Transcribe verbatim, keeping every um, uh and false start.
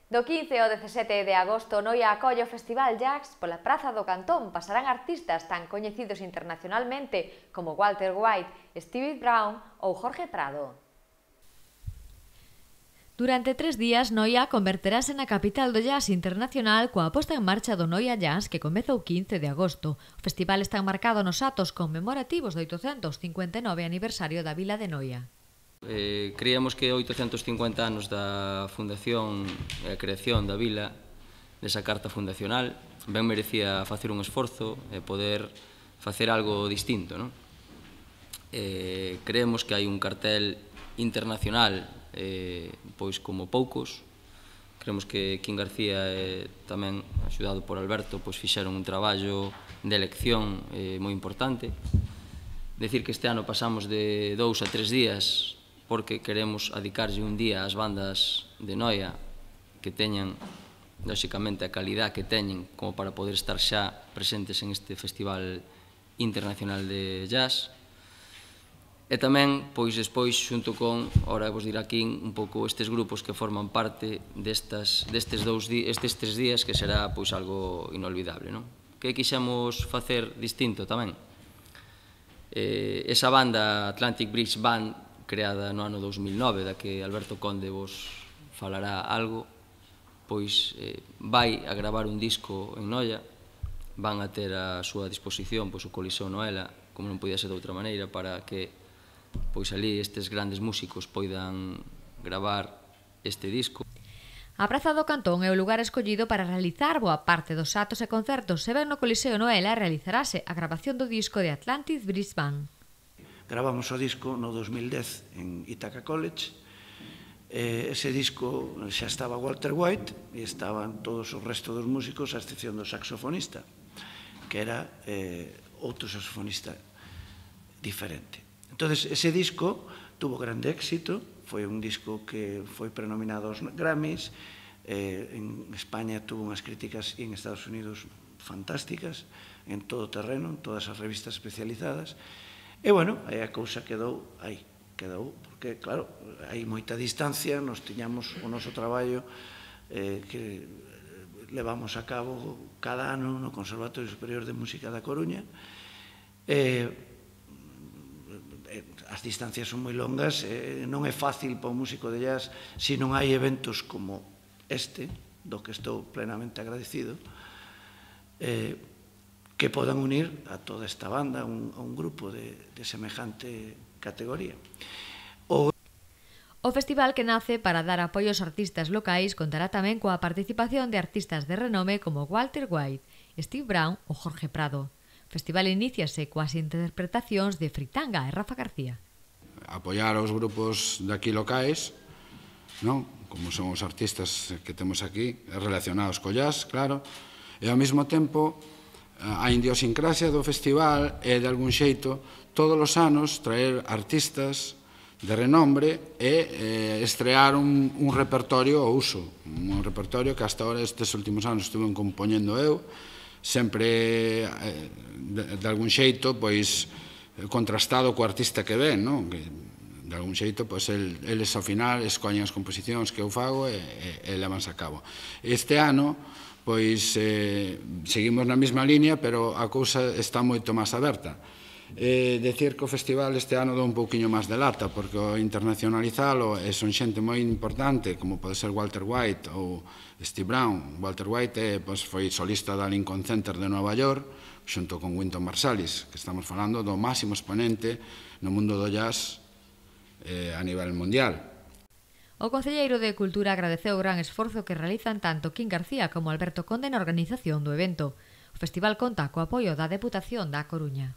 Do quince ao dezasete de agosto, Noia acolle o Festival Jazz pola Praza do Cantón. Pasarán artistas tan coñecidos internacionalmente como Walter White, Steve Brown ou Jorge Prado. Durante tres días, Noia converterase na capital do jazz internacional coa posta en marcha do Noia Jazz que comeza o quince de agosto. O festival está enmarcado nos atos conmemorativos do oitocentos cincuenta e nove aniversario da vila de Noia. Eh, creíamos que oitocentos cincuenta anos da fundación e a creación da vila, desa carta fundacional, ben merecía facer un esforzo e poder facer algo distinto, non? Eh, creemos que hai un cartel internacional eh, pois como poucos. Creemos que Quim García e tamén axudado por Alberto pois fixeron un traballo de elección eh, moi importante. Decir que este ano pasamos de dous a tres días porque queremos adicarlle un día ás bandas de Noia que teñan, lóxicamente, a calidad que teñen como para poder estar xa presentes en este Festival Internacional de Jazz. E tamén, pois, despois, xunto con, ora vos dirá aquí, un pouco estes grupos que forman parte destas, destes, dous, estes tres días que será, pois, algo inolvidable, non? Que quixemos facer distinto tamén? Eh, esa banda Atlantic Bridge Band, creada no ano dous mil nove, da que Alberto Conde vos falará algo, pois eh, vai a gravar un disco en Noia, van a ter a súa disposición pois, o Coliseo Noela, como non podía ser de outra maneira, para que pois ali estes grandes músicos poidan gravar este disco. A Praza do Cantón é o lugar escollido para realizar boa parte dos atos e concertos. Se ven no Coliseo Noela, realizarase a grabación do disco de Atlantic Bridge Band. Gravamos o disco no dos mil dez en Ithaca College. Ese disco xa estaba Walter White e estaban todos os restos dos músicos a excepción do saxofonista, que era outro saxofonista diferente. Entón, ese disco tuvo grande éxito, foi un disco que foi prenominado aos Grammys, en España tuvo unhas críticas e en Estados Unidos fantásticas, en todo terreno, en todas as revistas especializadas. E, bueno, aí a cousa quedou aí, quedou, porque, claro, hai moita distancia, nos tiñamos o noso traballo que levamos a cabo cada ano no Conservatorio Superior de Música da Coruña. As distancias son moi longas, non é fácil para un músico de jazz se non hai eventos como este, do que estou plenamente agradecido, que podan unir a toda esta banda, a un grupo de semejante categoría. O festival, que nace para dar apoio aos artistas locais, contará tamén coa participación de artistas de renome como Walter White, Steve Brown ou Jorge Prado. O festival iníciase coas interpretacións de Fritanga e Rafa García. Apoiar aos grupos de aquí locais, non? Como son os artistas que temos aquí, relacionados co jazz, claro, e ao mesmo tempo a idiosincrasia do festival é, de algún xeito, todos os anos traer artistas de renombre e estrear un repertorio ao uso, un repertorio que hasta ahora estes últimos anos estuve compoñendo eu, sempre de algún xeito pois contrastado co artista que ven, non? De algún xeito, pois eles ao final escollen as composicións que eu fago e levanse a cabo. Este ano pois seguimos na mesma línea, pero a cousa está moito máis aberta. Decir que o festival este ano dá un pouquiño máis de lata, porque o internacionalizalo son xente moi importante, como pode ser Walter White ou Steve Brown. Walter White foi solista da Lincoln Center de Nova York, xunto con Wynton Marsalis, que estamos falando do máximo exponente no mundo do jazz a nivel mundial. O concelleiro de Cultura agradeceu o gran esforzo que realizan tanto Quim García como Alberto Conde na organización do evento. O festival conta co apoio da Deputación da Coruña.